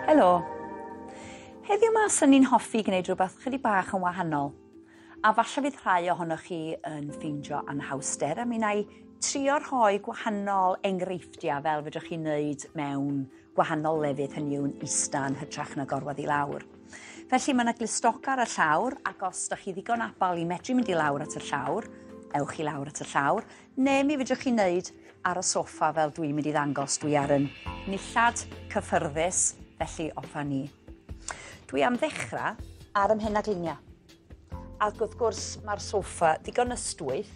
Helo. Heddiw 'ma 'swn i'n hoffi gwneud rhywbeth chydig bach yn wahanol. A falle fydd rhai ohonoch chi yn ffeindio anhawster a mi wna i trio rhoi gwahanol enghreifftiau fel fedrwch chi wneud mewn gwahanol lefydd, hynny yw'n ista yn hytrach na gorwedd i lawr. Felly mae yna glustog ar y llawr ac os da chi ddigon abal i medru mynd i lawr at y llawr, ewch i lawr at y llawr, neu mi fedrwch chi wneud ar y soffa fel dwi'n mynd i ddangos. Dwi ar yn nillad cyffyrddus, felly off â ni. Dwi am ddechrau ar 'y mhenagliniau. Ac wrth gwrs mae'r soffa ddigon ystwyth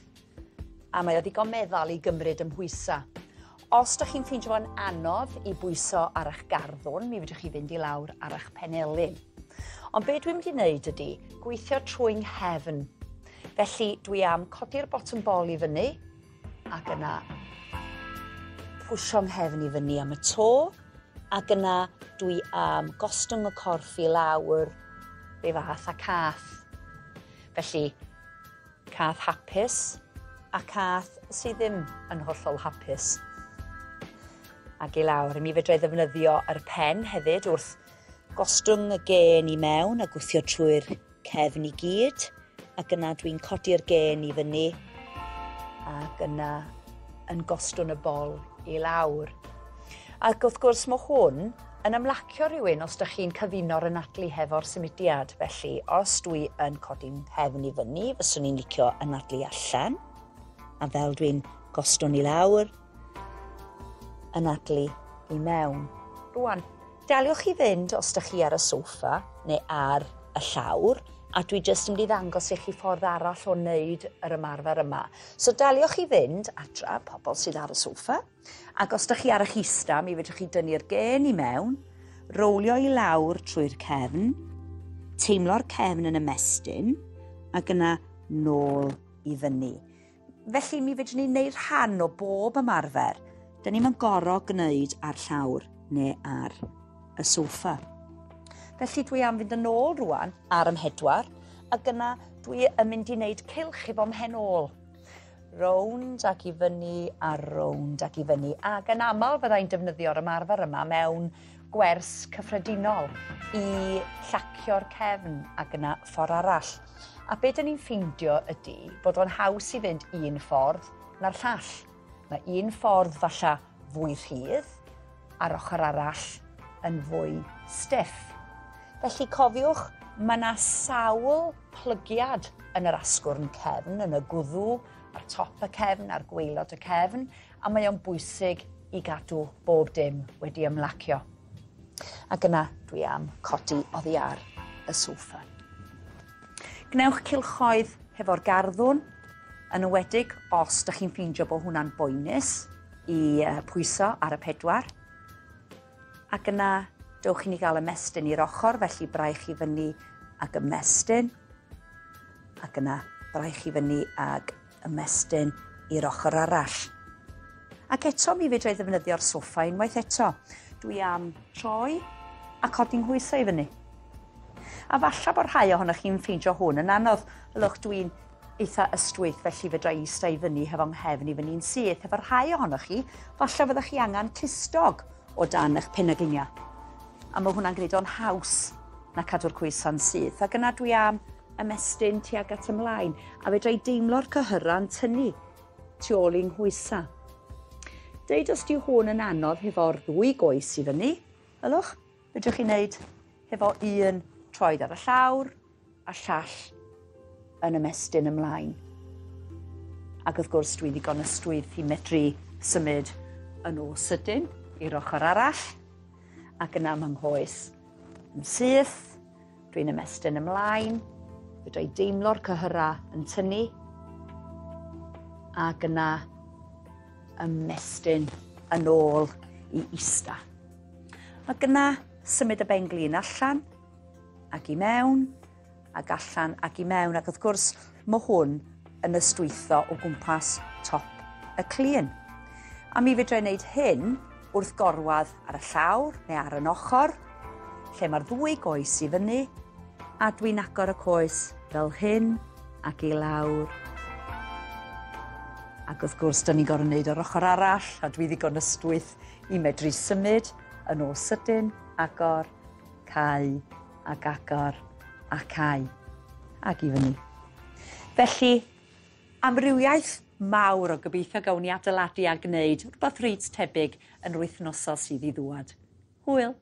a mae o ddigon meddal i gymryd 'y mhwysa. Os dych chi'n ffeindio fo'n anodd i bwyso ar eich garddwn, mi fedrwch chi fynd i lawr ar eich penelin. Ond be dwi'n mynd i wneud ydy gweithio trwy 'nghefn. Felly dwi am codi'r bottom bol i fyny ac yna pwsio 'nghefn i fyny am y to ac yna dwi am gostwng y corff i lawr rhyw fath a cath. Felly cath hapus a cath sydd ddim yn hollol hapus. Ac i lawr, mi fedra i ddefnyddio yr pen hefyd wrth gostwng y gên i mewn a gwthio trwy'r cefn i gyd, ac yna dwi'n codi'r gên i fyny ac yna yn gostwng y bol i lawr. Ac wrth gwrs mae hwn yn ymlacio rhywun os ydych chi'n cyfuno'r anadlu hefo'r symudiad. Felly, os dwi yn codi'n nghefn i fyny, fyswn i'n licio anadlu allan, a fel dwi'n gostwng i lawr, anadlu i mewn. Rwan, daliwch i fynd os ydych chi ar y soffa neu ar y llawr, a dwi jyst yn mynd i ddangos i chi ffordd arall o wneud yr ymarfer yma. So daliwch i fynd adra, pobl sydd ar y soffa, ac os ydych chi ar eich ista, mi fedrwch chi dynnu'r gên i mewn, rowlio i lawr trwy'r cefn, teimlo'r cefn yn ymestyn, ac yna nôl i fyny. Felly mi fedrwn ni wneud rhan o bob ymarfer. Dyn ni'm yn gorfod gwneud ar llawr neu ar y soffa. Felly dwi am fynd yn ôl rwan ar 'y mhedwar, ac yna dwi yn mynd i wneud cylch efo mhen ôl. Rownd ac i fyny a rownd ac i fyny. Ac yn aml fyddai'n defnyddio'r ymarfer yma mewn gwers cyffredinol i llacio'r cefn ac yna ffordd arall. A be dyn ni'n ffeindio ydy bod o'n haws i fynd un ffordd na'r llall. Mae un ffordd falla fwy rhydd a'r ochr arall yn fwy stiff. Felly cofiwch, mae yna sawl plygiad yn yr asgwrn cefn, yn y gwddw, ar top y cefn, ar gwaelod y cefn, a mae o'n bwysig i gadw bob dim wedi ymlacio. Ac yna dwi am codi oddi ar y soffa. Gwnewch cylchoedd hefo'r garddwn, yn enwedig os ydych chi'n ffeindio bod hwnna'n boenus i pwyso ar y pedwar. Ac yna dewch i ni gael ymestyn i'r ochr, felly braich i fyny ac ymestyn. Ac yna braich i fyny ac ymestyn i'r ochr arall. Ac eto mi fedra i ddefnyddio'r soffa unwaith eto. Dwi am troi a codi 'nghoesau i fyny. A falla bod rhai ohonoch chi'n ffeindio hwn yn anodd. Ylwch, dwi'n eitha ystwyth, felly fedra i ista i fyny hefo 'nghefn i fyny'n syth. Hefo rhai ohonoch chi, falla fyddwch chi angen clustog o dan eich penagliniau. A mae hwnna'n gwneud o'n haws na cadw'r coesa'n syth. Ac yna dwi am ymestyn tuag at ymlaen, a fedra i deimlo'r cyhyrau'n tynnu tu ôl i'n nghoesa. Deud os di hwn yn anodd hefo'r ddwy goes i fyny, ylwch, fedrwch chi wneud hefo un troed ar y llawr a llall yn ymestyn ymlaen. Ac wrth gwrs dwi ddigon ystwyth i medru symud yn ôl sydyn i'r ochr arall, ac yna mae nghoes yn syth, dwi'n ymestyn ymlaen, fedra i deimlo'r cyhyrau yn tynnu, ac yna ymestyn yn ôl i ista. Ac yna symud y ben-glin allan ac i mewn, ac allan ac i mewn, ac wrth gwrs mae hwn yn ystwytho o gwmpas top y clun. A mi fedra i wneud hyn wrth gorwedd ar y llawr neu ar yn ochr, lle mae'r ddwy goes i fyny, a dwi'n agor y coes fel hyn ac i lawr. Ac wrth gwrs, dyn ni'n gorfod wneud o'r ochr arall, a dwi ddigon ystwyth i medru symud yn ôl sydyn, agor Cau ac agor a cau. Ac i fyny. Felly, amrywiaeth mawr o gobeithio gawn ni adeiladu a gwneud rhywbeth reit tebyg yn yr wythnosau sydd i ddŵad. Hwyl!